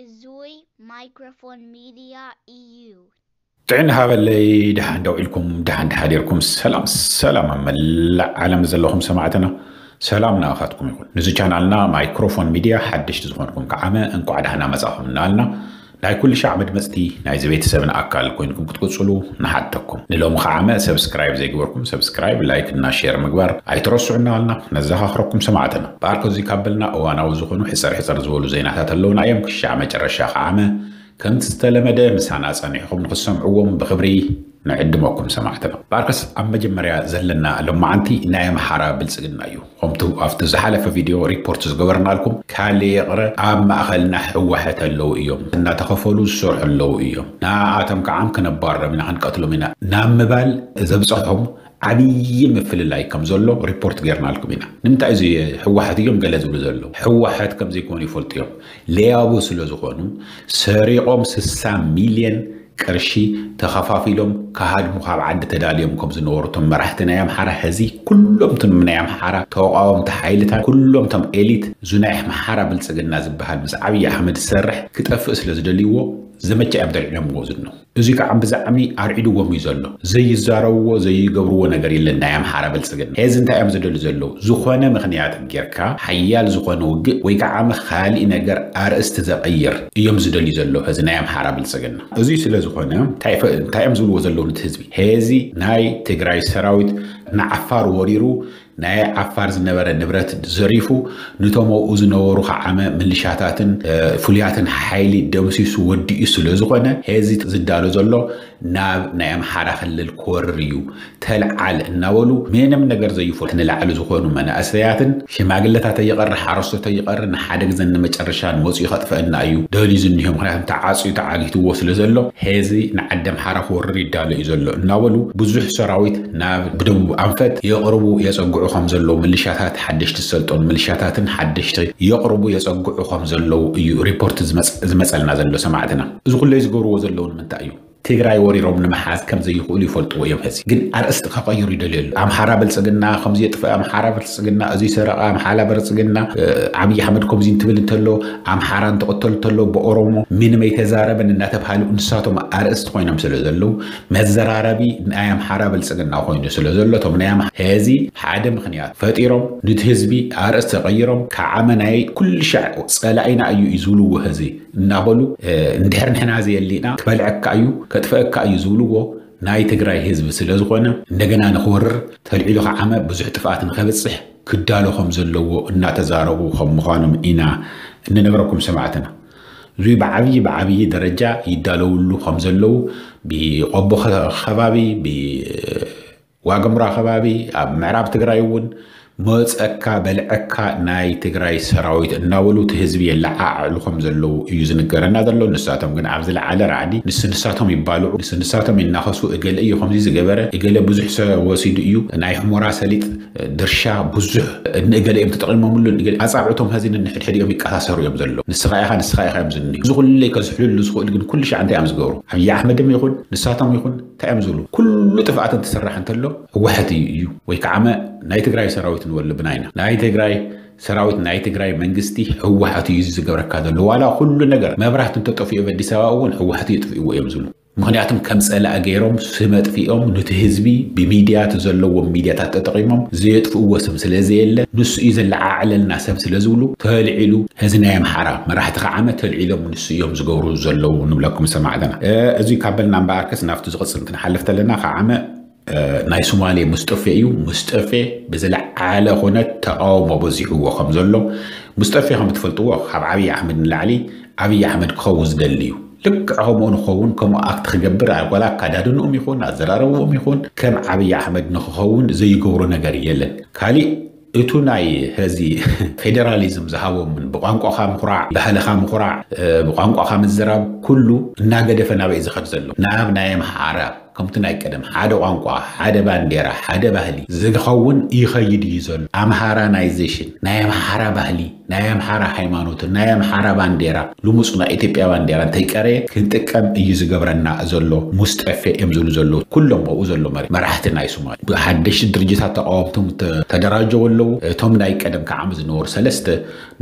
እዙይ ማይክሮፎን ሚድያ እዩ። ጥዕና ሃበለይ፣ ደሓን ደው ኢልኩም፣ ደሓን ደሓዲርኩም፣ ሰላም ሰላም ኣብ መላእ ዓለም ዘለኹም ሰማዕትና፣ ሰላም ንኣኻትኩም ይኹን። ንዚ ቻናልና ማይክሮፎን ሚድያ ሓደሽቲ ዝኾንኩም ከዓመ እንቋዕ ደህና መጻኹም እናልና፣ ናይ ኩሉ ሻዕ መድመጽቲ ናይዚ ቤተሰብና ኣካል ኮይንኩም ክትቅጽሉ ንሓተኩም። ንሎሚ ከዓመ ሰብስክራይብ ዘይግበርኩም ሰብስክራይብ፣ ላይክ እና ሼር ምግባር ኣይትረስዑ እናልና ነዘኻኽረኩም ሰማዕትና። ብኣርከ እዙይ ካብ በልና እዋናዊ ዝኾኑ ሕጽር ሕጽር ዝበሉ ዜናታት ኣለውና እዮም። ክሻዕ መጨረሻ ከዓመ ከምቲ ዝተለመደ ምሳና ጸኒሕኹም ንኽትሰምዕዎም ብኽብሪ ንዕድመኩም ሰማዕትና። ብኣርከስ ኣብ መጀመርያ ዘለና ሎማዓንቲ ናይ ኣምሓራ ብልጽግና እዩ። ከምቲ ኣብቲ ዝሓለፈ ቪድዮ ሪፖርት ዝገበርናልኩም ካልእ ይቕረ ኣብ ማእኸልና ህወሓት ኣለዉ እዮም፣ እናተኸፈሉ ዝሰርሑ ኣለዉ እዮም፣ ንኣቶም ከዓም ክነባርሮም ኢና ክንቀትሎም ኢና ናብ ምባል ዘብፀሖም ዓብዪ ምፍልላይ ከም ዘሎ ሪፖርት ገይርናልኩም ኢና። ንምንታይ እዚ ህወሓት እዮም ገለ ዝብሉ ዘለዉ? ህወሓት ከም ዘይኮኑ ይፈልጡ እዮም። ለያቡ ስለ ዝኾኑ ሰሪቖም ስሳ ሚልዮን ቅርሺ ተኸፋፊሎም ክሃድሙ ካብ ዓዲ ተዳልዮም ከም ዝነበሩ እቶም መራሕቲ ናይ ኣምሓራ፣ ሕዚ ኩሎም እቶም ናይ ኣምሓራ ተቃወምቲ ሓይልታት፣ ኩሎም እቶም ኤሊት፣ እዚ ናይ ኣምሓራ ብልጽግና ዝበሃል ምስ ዓብዪ ኣሕመድ ዝሰርሕ ክጠፍእ ስለ ዝደልይዎ ዘመቻ እዮም ተልዒሎምዎ ዝነው። እዚ ከዓ ብዛዕሚ ኣርዒድዎም እዩ ዘሎ። ዘይዛረብዎ ዘይገብርዎ ነገር የለን። ናይ ኣምሓራ ብልጽግና ሕዚ እንታይ እዮም ዝደልዩ ዘለዉ? ዝኾነ ምኽንያት ጌርካ ሓያል ዝኾነ ውግእ ወይ ከዓ ካሊእ ነገር ኣርእስቲ ዘቐይር እዮም ዝደልዩ ዘለዉ ሕዚ ናይ ኣምሓራ ብልጽግና። እዙይ ስለ ዝኾነ እንታይ ፈ- እንታይ እዮም ዝብልዎ ዘለዉ ነቲ ህዝቢ? ሕዚ ናይ ትግራይ ሰራዊት ንዓፋር ወሪሩ ናይ ዓፋር ዝነበረ ንብረት ዘሪፉ፣ ንቶም ኣብኡ ዝነበሩ ከዓመ ምልሻታትን እ፣ ፍሉያትን ሓይሊ ደምሲሱ ወዲኡ ስለ ዝኾነ፣ ሕዚ ዝዳሎ ዘሎ ናብ ናይ ኣምሓራ ክልል ክወርር እዩ። ተልዓል እናበሉ ምንም ነገር ዘይፈልጡ ንላዕሊ ዝኾኑ መናእሰያትን ሽማግለታት ይቐር፣ ሓረስቶት ይቐር፣ ንሓደ ግዘን ንመጨረሻን መፂኡ ከጥፈአና እዩ ደልዩ ዝኒሆ። ምኽንያቱም ተዓፅዩ ተዓጊትዎ ስለ ዘሎ፣ ሕዚ ንዓዲ ኣምሓራ ክወርር ይዳሎ እዩ ዘሎ እናበሉ ብዙሕ ሰራዊት ናብ ብደቡብ ኣንፈት የቕርቡ የፀግዑ ከም ዘለዉ፣ ምልሻታት ሓደሽቲ ዝሰልጠኑ ምልሻታትን ሓደሽቲ የቕርቡ የፀግዑ ከም ዘለዉ እዩ ሪፖርት ዝመፅ- ዝመፀልና ዘሎ ሰማዕትና። እዚ ኩለይ ዝገብርዎ ዘለዉ ንምንታይ እዩ? ትግራይ ወሪሮም ንምሓዝ ከም ዘይኽእሉ ይፈልጥዎ እዮም። ሕዚ ግን ኣርእስቲ ከቐይሩ ይደልዩ ኣለዉ። ኣምሓራ ብልፅግና ከምዚ የጥፍእ፣ ኣምሓራ ብልፅግና እዚ ሰረቐ፣ ኣምሓራ ብልፅግና እ፣ ዓብዪ ኣሕመድ ከምዚ እንትብል እንተሎ፣ ኣምሓራ እንትቕተል እንተሎ ብኦሮሞ ምንም ኣይተዛረበን እናተብሃሉ ንሳቶም ኣርእስቲ ኮይኖም ስለ ዘለዉ፣ መዘራረቢ ናይ ኣምሓራ ብልፅግና ኮይኑ ስለ ዘሎ፣ እቶም ናይ ኣምሓ- ሕዚ ሓደ ምኽንያት ፈጢሮም ንቲ ህዝቢ ኣርእስቲ ቀይሮም ከዓመ ናይ ኩሉ ሻዕ ጸላኢና እዩ እዩ ዝብልዎ ሕዚ እናበሉ እ፣ እንድሕር ንሕና ዘየሊና ክበልዐካ እዩ ከጥፈአካ እዩ ዝብልዎ ናይ ትግራይ ህዝቢ ስለ ዝኾነ፣ እንደገና ንኽወርር ተልዒሉ ከዓመ ብዙሕ ጥፍኣት ንኸብፅሕ ክዳሎ ከም ዘለዎ እናተዛረቡ ከም ምዃኖም ኢና እንነግረኩም ሰማዕትና። እዚ ብዓብዪ ብዓብዪ ደረጃ ይዳለውሉ ከም ዘለዉ ብቆቦ ከ- ከባቢ፣ ብዋግምራ ከባቢ፣ ኣብ ምዕራብ ትግራይ እውን መፀካ በልዐካ ናይ ትግራይ ሰራዊት እናበሉ እቲ ህዝቢ የለዓዕሉ ከም ዘለዉ እዩ ዝንገረና ዘሎ። ንሳቶም ግን ኣብ ዝለዓለ ራዕዲ ንስ ንሳቶም ይባልዑ፣ ንስ ንሳቶም ይናኸሱ፣ እገለ እዩ ከምዚ ዝገበረ፣ እገለ ብዙሕ ሰብ ወሲዱ እዩ፣ ናይ ሑመራ ሰሊጥ ድርሻ ብዙሕ ንእገለ እዮም ተጠቒሞምሉ፣ ንእገለ ኣጻብዕቶም ሐዚ ንሕድሕድ እዮም ይቀሳሰሩ እዮም ዘለዉ። ንስኻ ኢኻ፣ ንስኻ ኢኻ እዮም ዝንሂ። እዚ ኩለይ ከዝሕልሉ ዝኽእል ግን ኩሉ ሻዕ እንታይ እዮም ዝገብሩ? ኣብይ ኣሕመድም ይኹን ንሳቶም ይኹን እንታይ እዮም ዝብሉ? ኩሉ ጥፍኣት እንትስራሕ እንተሎ ህወሓት እዩ እዩ ወይ ከዓመ ናይ ትግራይ ሰራዊት ንወልብና ኢና። ናይ ትግራይ ሰራዊት፣ ናይ ትግራይ መንግስቲ ህወሓት እዩ እዚ ዝገብረካ ዘሎ። ዋላ ኩሉ ነገር መብራህቲ እንተጠፊኡ ኣብ ኣዲስ ኣበባ እውን ህወሓት እዩ የጥፍእዎ እዮም ዝብሉ። ምኽንያቱም ከም ጸላኢ ገይሮም ስም ኣጥፊኦም ኑቲ ህዝቢ ብሚድያ እቲ ዘለዎም ሚድያታት ተጠቒሞም ዘየጥፍእዎ ስም ስለ ዘየለ ንሱ እዩ ዘለዓዕለልና ሰብ ስለ ዝብሉ ተልዒሉ እዚ ናይ ኣምሓራ መራሕቲ ከዓመ ተልዒሎም ንሱ እዮም ዝገብሩ ዘለዉ ንብለኩም ሰማዕትና። እ፣ እዚ ካብ በልና እምበኣርከስ ናብቲ ዝቕጽል እንትንሓልፍ ተለና ከዓመ እ፣ ናይ ሶማሌ ሙስጠፌ እዩ። ሙስጠፌ ብዝለዓለ ኩነት ተቃውሞ በዚሕዎ ከም ዘሎ ሙስጠፌ ከም ትፈልጥዎ ካብ ዓብዪ ኣሕመድ ንላዕሊ ዓብዪ ኣሕመድ ክኸውን ዝደሊ እዩ። ልክዕ ከምኡ ንኸውን ከምኡ ኣክት ክገብር ዋላ ኣካዳድንኦም ይኹን ኣዘራረብኦም ይኹን ከም ዓብዪ ኣሕመድ ንክኸውን ዘይገብሮ ነገር የለን። ካሊእ እቱ ናይ ሀዚ ፌዴራሊዝም ዝሃቦምን ብቋንቋኻ ምኹራዕ ባህልኻ ምኹራዕ እ፣ ብቋንቋኻ ምዝራብ ኩሉ እናገደፈ ናበይ ዝኸድ ዘሎ ናብ ናይ ኣምሓራ ከምቲ ናይ ቀደም ሓደ ቋንቋ፣ ሓደ ባንዴራ፣ ሓደ ባህሊ ዝኸውን ይኸይድ እዩ ዘሎ። ኣምሃራናይዜሽን፣ ናይ ኣምሓራ ባህሊ፣ ናይ ኣምሓራ ሃይማኖትን ናይ ኣምሓራ ባንዴራ፣ ልሙፅ ናይ ኢትዮጵያ ባንዴራ እንተይቀረየ ክንጥቀም እዩ ዝገብረና ዘሎ። ሙስጠፌ እዮም ዝብሉ ዘለዉ ኩሎም ኣብኡ ዘሎ መሪ-፣ መራሕቲ ናይ ሶማል። ብሓደሽቲ ድርጅታት ተቃወምቶም ተ-፣ ተደራጀው ኣለዉ። እቶም ናይ ቀደም ከዓም ዝነበሩ ሰለስተ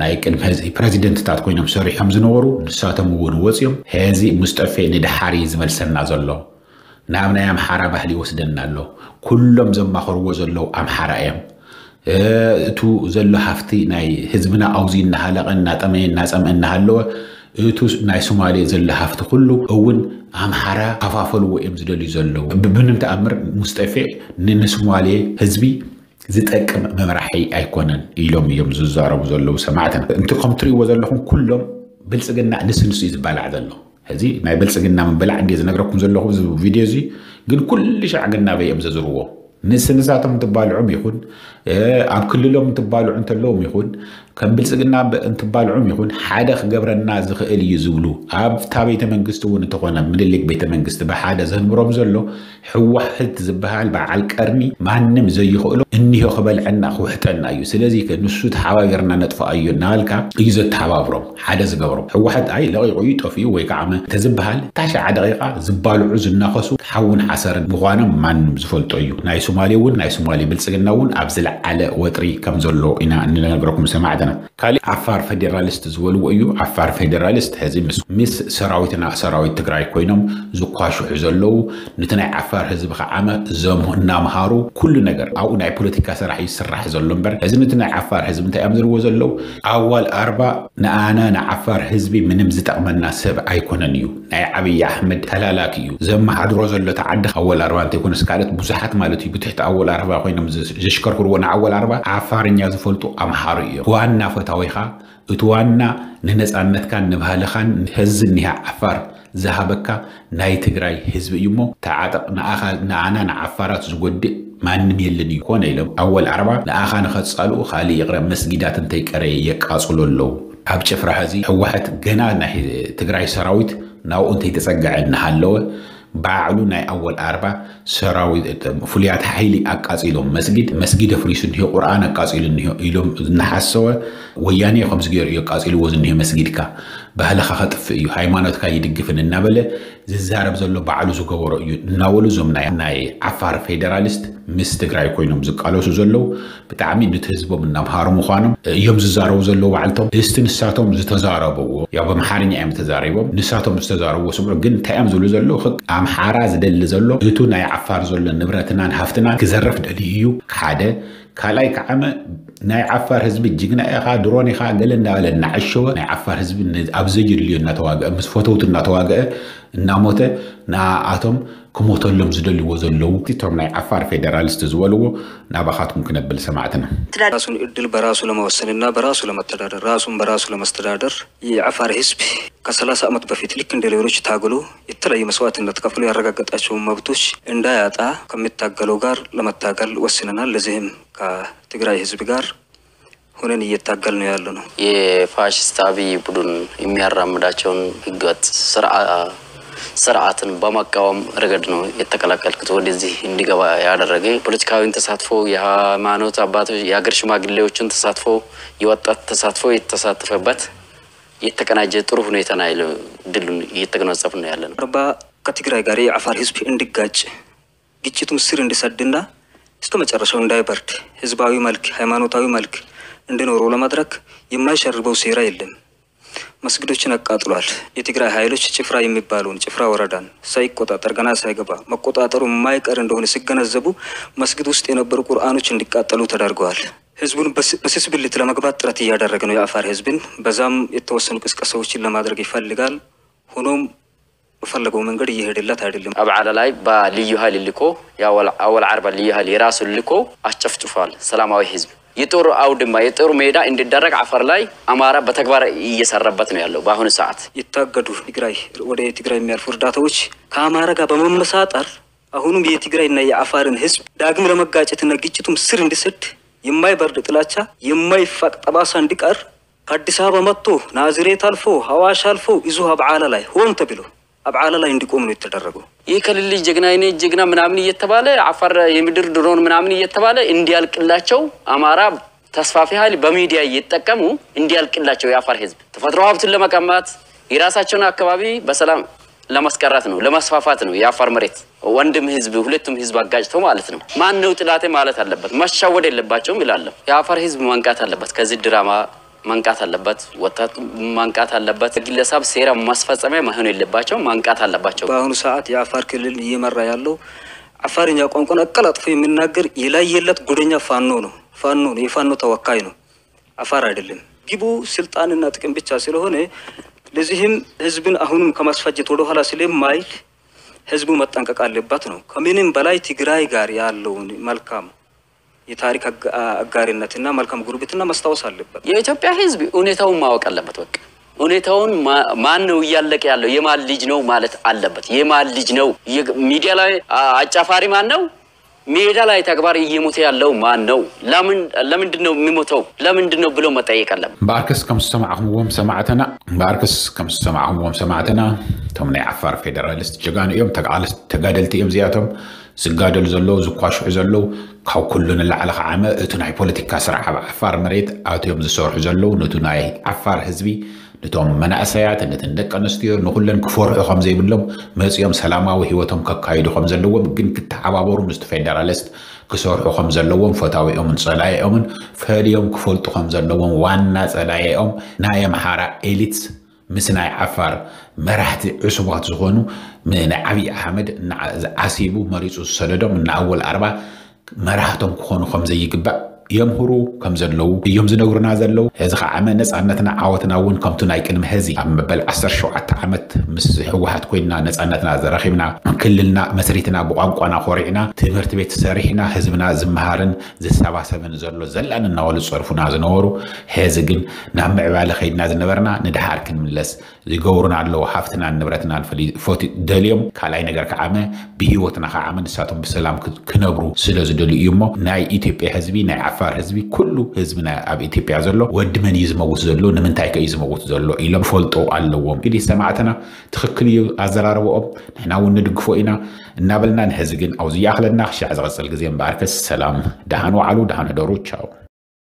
ናይ ቅድሚ ሕዚ ፕረዚደንትታት ኮይኖም ሰሪሖም ዝነበሩ ንሳቶም እውን ወፂኦም። ሕዚ ሙስጠፌ ንድሓር እዩ ዝመልሰና ዘሎ። ናብ ናይ ኣምሓራ ባህሊ ይወስደና ኣሎ። ኩሎም ዘማኽርዎ ዘለዉ ኣምሓራ እዮም። እ፣ እቱ ዘሎ ሃፍቲ ናይ ህዝብና ኣውዚ እናሃለቐ እናጠመየ እናጸምአ እናሃለወ እቱ ናይ ሶማሌ ዘሎ ሃፍቲ ኩሉ እውን ኣምሓራ ከፋፈልዎ እዮም ዝደልዩ ዘለዉ። ብ-፣ ብምንም ተኣምር ሙስጠፌ ን-፣ ንሶማሌ ህዝቢ ዝጠቅም መምራሒ ኣይኮነን ኢሎም እዮም ዝዛረቡ ዘለዉ ሰማዕትና። እንት ከም ትርእይዎ ዘለኹም ኩሎም ብልጽግና ንስንሱ እዩ ዝበላዕ ዘሎ። ሕዚ ናይ ብልጽግና ምብላዕ እንድየ ዝነግረኩም ዘለኹ እዚ ቪድዮ እዚ፣ ግን ኩሉ ሻዕ ግን ናበይ እዮም ዘዝርዎ? ንስንሳቶም እንትባልዑም ይኹን፣ እ፣ ኣብ ክልሎም እንትባልዑ እንተለዎም ይኹን፣ ከም ብልጽግና ብ-፣ እንትባልዑም ይኹን፣ ሓደ ክገብረና ዝኽእል እዩ ዝብሉ፣ ኣብታ ቤተ መንግስቲ እውን እንተኾነ ምኒልክ ቤተ መንግስቲ ብሓደ ዘንብሮም ዘሎ ህወሓት ዝበሃል በዓል ቀርኒ ማንም ዘይኽእሎ እኒሆ ክበልዐና ክውሕጠና እዩ። ስለዚ ከ ንሱ ተሓባቢርና ነጥፍኣዮ እናበልካ እዩ ዘተሓባብሮም፣ ሓደ ዝገብሮም። ህወሓት ኣይ ለቒቑ እዩ ጠፊኡ ወይ ከዓ መ-፣ ተዝበሃል እታ ሸዓ ደቂቃ ዝባልዑ ዝናኸሱ ሓውን ሓሰርን ምዃኖም ማንም ዝፈልጦ እዩ። ናይ ሶማሌ እውን ናይ ሶማሌ ብልጽግና እውን ኣብ ዝለዓለ ወጥሪ ከም ዘሎ ኢና እንነግረኩም ሰማዕትና። ካሊእ ዓፋር ፌዴራሊስት ዝበልዎ እዩ። ዓፋር ፌዴራሊስት ሕዚ ምስ፣ ምስ ሰራዊትና ሰራዊት ትግራይ ኮይኖም ዝኳሽሑ ዘለዉ፣ ነቲ ናይ ዓፋር ህዝቢ ከዓመ ዘም-፣ እናምሃሩ ኩሉ ነገር ኣብኡ ናይ ፖለቲካ ስራሕ እዩ ዝስራሕ ዘሎ እምበር፣ ሕዚ ነቲ ናይ ዓፋር ህዝቢ እንታይ እዮም ዝብልዎ ዘለዉ? ኣዋል ኣርባ ንኣና ንዓፋር ህዝቢ ምንም ዝጠቕመና ሰብ ኣይኮነን እዩ። ናይ ዓብዪ ኣሕመድ ተላላኪ እዩ። ዘመሓድሮ ዘሎ ተዓዲ ኣወል ኣርባ እንተይኮነስ ካልኦት ብዙሓት ማለት እዩ። ብትሕቲ ኣወል ኣርባ ኮይኖም ዘ-፣ ዘሽከርክርዎ ንኣወል ኣርባ ዓፋርኛ ዝፈልጡ ኣምሓሩ እዮም። ዋና ፈታዊኻ፣ እቲ ዋና ንነጻነትካን ንባህልኻን ንህዚ እኒሃ ዓፋር ዝሃበካ ናይ ትግራይ ህዝቢ እዩ እሞ ተዓጠቕ። ንኣኻ፣ ንኣና ንዓፋራት ዝጎድእ ማንም የለን እዩ። ኮነ ኢሎም ኣወል ኣርባ ንኣኻ ንኸጻልኡ ካልእ ይቕረ መስጊዳት እንተይቀረየ የቃጽሎ ኣለዉ። ኣብ ጭፍራ ሕዚ ህወሓት ገና ናይ ትግራይ ሰራዊት ናብኡ እንተይተጸግዐ እናሃለወ ባዕሉ ናይ ኣወል ኣርባ ሰራዊት ፍሉያት ሓይሊ ኣቃጺሎም መስጊድ፣ መስጊድ ኣፍሪሱ እኒሆ፣ ቁርኣን ኣቃጺሉ እኒሆ ኢሎም እናሓሰወ ወያኔ ከምዚ ገይሩ እዩ ኣቃጺልዎ ዝኒሆ መስጊድካ፣ ባህልኻ ከጥፍእ እዩ፣ ሃይማኖትካ ይድግፍን እናበለ ዝዛረብ ዘሎ ባዕሉ ዝገበሮ እዩ እናበሉ እዞም ናይ፣ ናይ ዓፋር ፌዴራሊስት ምስ ትግራይ ኮይኖም ዝቃለሱ ዘለዉ ብጣዕሚ ነቲ ህዝቦም እናምሃሩ ምዃኖም እዮም ዝዛረቡ ዘለዉ ባዕልቶም። እስቲ ንሳቶም ዝተዛረብዎ፣ ያው በምሓርኛ እዮም ተዛሪቦም፣ ንሳቶም ዝተዛረብዎ ስምዑ። ግን እንታይ እዮም ዝብሉ ዘለዉ? ክቅ-፣ ኣምሓራ ዝደሊ ዘሎ እቱ ናይ ዓፋር ዘሎ ንብረትናን ሃፍትናን ክዘርፍ ደልዩ እዩ፣ ሓደ። ካልኣይ ከዓመ ናይ ዓፋር ህዝቢ ጅግና ኢኻ፣ ድሮን ኢኻ፣ ገለ እንዳበለ እናዐሸወ ናይ ዓፋር ህዝቢ ን-፣ ኣብ ዘየድልዮ እናተዋግአ፣ ምስ ፈተውቱ እናተዋግአ፣ እናሞተ፣ ንኣቶም ክሞተሎም ዝደልዎ ዘለዉ፣ እቶም ናይ ዓፋር ፌዴራሊስት ዝበልዎ ናባኻትኩም ክነብል ሰማዕትና። ራሱን እድል በራሱ ለመወሰንና በራሱ ለመተዳደር፣ ራሱን በራሱ ለመስተዳደር የዓፋር ህዝብ ከሰላሳ ዓመት በፊት ልክ እንደ ሌሎች ታግሎ የተለያዩ መስዋዕትነት ከፍሎ ያረጋገጣቸውን መብቶች እንዳያጣ ከሚታገለው ጋር ለመታገል ወስነናል። ለዚህም ከትግራይ ህዝብ ጋር ሆነን እየታገልን ነው ያለነው። የፋሽስት አብይ ቡድን የሚያራምዳቸውን ህገወጥ ስርዓ-፣ ስርዓትን በመቃወም ረገድ ነው የተቀላቀልኩት። ወደዚህ እንዲገባ ያደረገ ፖለቲካዊን ተሳትፎ፣ የሃይማኖት አባቶች፣ የሀገር ሽማግሌዎችን ተሳትፎ፣ የወጣት ተሳትፎ የተሳተፈበት የተቀናጀ ጥሩ ሁኔታ ነው ያለው። ድሉን እየተጎናጸፍን ነው ያለነው። አርባ ከትግራይ ጋር የአፋር ህዝብ እንዲጋጭ፣ ግጭቱም ስር እንዲሰድና እስከ መጨረሻው እንዳይበርድ፣ ህዝባዊ መልክ፣ ሃይማኖታዊ መልክ እንዲኖረው ለማድረግ የማይሸርበው ሴራ የለም። መስጊዶችን አቃጥሏል። የትግራይ ኃይሎች ጭፍራ የሚባለውን፣ ጭፍራ ወረዳን ሳይቆጣጠር፣ ገና ሳይገባ መቆጣጠሩ የማይቀር እንደሆነ ሲገነዘቡ መስጊድ ውስጥ የነበሩ ቁርአኖች እንዲቃጠሉ ተደርገዋል። ህዝቡን በስ-፣ በስስብልት ለመግባት ጥረት እያደረገ ነው፣ የአፋር ህዝብን። በዛም የተወሰኑ ቅስቀሳዎችን ለማድረግ ይፈልጋል። ሆኖም በፈለገው መንገድ እየሄደለት አይደለም። አብዓላ ላይ በልዩ ኃይል ልኮ፣ የአወል-፣ አወል አርባ ልዩ ኃይል የራሱን ልኮ አስጨፍጭፏል ሰላማዊ ህዝብ። የጦር አውድማ፣ የጦር ሜዳ እንዲደረግ አፋር ላይ አማራ በተግባር እየሰራበት ነው ያለው በአሁኑ ሰዓት። የታገዱ ትግራይ፣ ወደ ትግራይ የሚያልፉ እርዳታዎች ከአማራ ጋር በመመሳጠር አሁንም የትግራይና የአፋርን ህዝብ ዳግም ለመጋጨትና ግጭቱም ስር እንዲሰድ የማይበርድ ጥላቻ፣ የማይፋቅ ጠባሳ እንዲቀር ከአዲስ አበባ መጥቶ ናዝሬት አልፎ ሐዋሽ አልፎ እዚሁ አብዓላ ላይ ሆን ተብሎ ኣብ ዓላ ላይ እንዲቆም ነው የተደረገው። ይህ ክልል ልጅ ጀግና፣ የኔ ጀግና ምናምን እየተባለ፣ አፋር የምድር ድሮን ምናምን እየተባለ እንዲያልቅላቸው፣ አማራ ተስፋፊ ኃይል በሚዲያ እየተጠቀሙ እንዲያልቅላቸው፣ የአፋር ህዝብ ተፈጥሮ ሀብቱን ለመቀማት፣ የራሳቸውን አካባቢ በሰላም ለማስቀረት ነው፣ ለማስፋፋት ነው። የአፋር መሬት ወንድም ህዝብ፣ ሁለቱም ህዝብ አጋጭተው ማለት ነው። ማን ነው ጥላቴ ማለት አለበት፣ መሸወድ የለባቸውም ይላለሁ። የአፋር ህዝብ መንቃት አለበት፣ ከዚህ ድራማ መንቃት አለበት፣ ወጣቱ መንቃት አለበት። ግለሰብ ሴራ ማስፈጸሚያ መሆን የለባቸው፣ መንቃት አለባቸው። በአሁኑ ሰዓት የአፋር ክልል እየመራ ያለው አፋርኛ ቋንቋን አቀላጥፎ የሚናገር የላየለት ጉደኛ ፋኖ ነው። ፋኖ ነው፣ የፋኖ ተወካይ ነው፣ አፋር አይደለም። ግቡ ስልጣንና ጥቅም ብቻ ስለሆነ፣ ለዚህም ህዝብን አሁንም ከማስፈጀት ወደኋላ ስለማይል ህዝቡ መጠንቀቅ አለበት ነው። ከምንም በላይ ትግራይ ጋር ያለውን መልካም የታሪክ አጋ- አጋርነትና መልካም ጉርብትና ማስታወስ አለበት። የኢትዮጵያ ህዝብ ሁኔታውን ማወቅ አለበት። በቃ ሁኔታውን ማ- ማን ነው እያለቀ ያለው፣ የማን ልጅ ነው ማለት አለበት። የማን ልጅ ነው? የ- ሚዲያ ላይ አ- አጫፋሪ ማን ነው? ሜዳ ላይ ተግባር እየሞተ ያለው ማን ነው? ለምን ለምንድን ነው የሚሞተው? ለምንድን ነው ብሎ መጠየቅ አለበት። እምበኣርከስ ከም ዝሰማዕኹምዎም ሰማዕትና እምበኣርከስ ከም ዝሰማዕኹምዎም ሰማዕትና፣ እቶም ናይ ዓፋር ፌደራሊስት ጀጋኑ እዮም። ተጋደልቲ እዮም እዚኣቶም። ዝጋደሉ ዘለዉ፣ ዝኳሽሑ ዘለዉ፣ ካብ ኩሉ ንላዕሊ ከዓመ እቲ ናይ ፖለቲካ ስራሕ ኣብ ዓፋር መሬት ኣትዮም ዝሰርሑ ዘለዉ፣ ነቱ ናይ ዓፋር ህዝቢ፣ ነቶም መናእሰያት፣ ነተን ደቂ ኣንስትዮ፣ ንኹለን ክፈርሑ ከም ዘይብሎም፣ መጺኦም ሰላማዊ ህይወቶም ከካይዱ ከም ዘለዎም፣ ግን ክተሓባበሩ ምስቲ ፌደራሊስት ክሰርሑ ከም ዘለዎም፣ ፈታዊኦምን ጸላኢኦምን ፈልዮም ክፈልጡ ከም ዘለዎም፣ ዋና ጸላኢኦም ናይ ኣምሓራ ኤሊት ምስ ናይ ዓፋር መራሕቲ ዕሱባት ዝኾኑ፣ ም- ናይ ዓብዪ ኣሕመድ እና- ዓሲቡ መሪጹ ዝሰደዶም እና ኣወል ኣርባ መራሕቶም ክኾኑ ከም ዘይግባእ የምህሩ ከም ዘለዉ እዮም ዝነግሩና ዘለዉ። እዚ ከዓ ነፃነትና ዓወትና እውን ከምቱ ናይ ቅድሚ ሕዚ ኣብ መበል ዓሰርተ ሸውዓተ ዓመት ምስ ህወሓት ኮይንና ነፃነትና ዘረኺብና፣ ክልልና መስሪትና፣ ብቋንቋና ኮሪዕና፣ ትምህርቲ ቤት ሰሪሕና፣ ህዝብና ዝመሃርን ዝሰባሰብን ዘሎ ዘላን እናበሉ ዝፀርፉና ዝነበሩ፣ ሕዚ ግን ናብ ምዕባለ ከይድና ዝነበርና ንድሓር ክንምለስ ዝገብሩና ኣለዉ። ሃፍትናን ንብረትናን ፈሊ- ፈቲ- ደልዮም ካልኣይ ነገር ከዓመ ብህይወትና ከዓመ ንሳቶም ብሰላም ክ- ክነብሩ ስለ ዝደልዩ እዩ እሞ፣ ናይ ኢትዮጵያ ህዝቢ፣ ናይ ዓፋር ህዝቢ፣ ኩሉ ህዝቢ ናይ ኣብ ኢትዮጵያ ዘሎ ወዲ መን እዩ ዝመውት ዘሎ፣ ንምንታይ ከ እዩ ዝመውት ዘሎ ኢሎም ፈልጦ ኣለዎም። እንግዲህ ሰማዕትና ትኽክል እዩ ኣዘራርበኦም፣ ንሕና እውን ንድግፎ ኢና እናበልና፣ ንሕዚ ግን ኣብዚ ይኣኽለና። ክሻዕ ዝቐፅል ግዜ እምበኣርከስ ሰላም፣ ደሃን ዋዕሉ፣ ደሃን ሕደሩ። ቻው።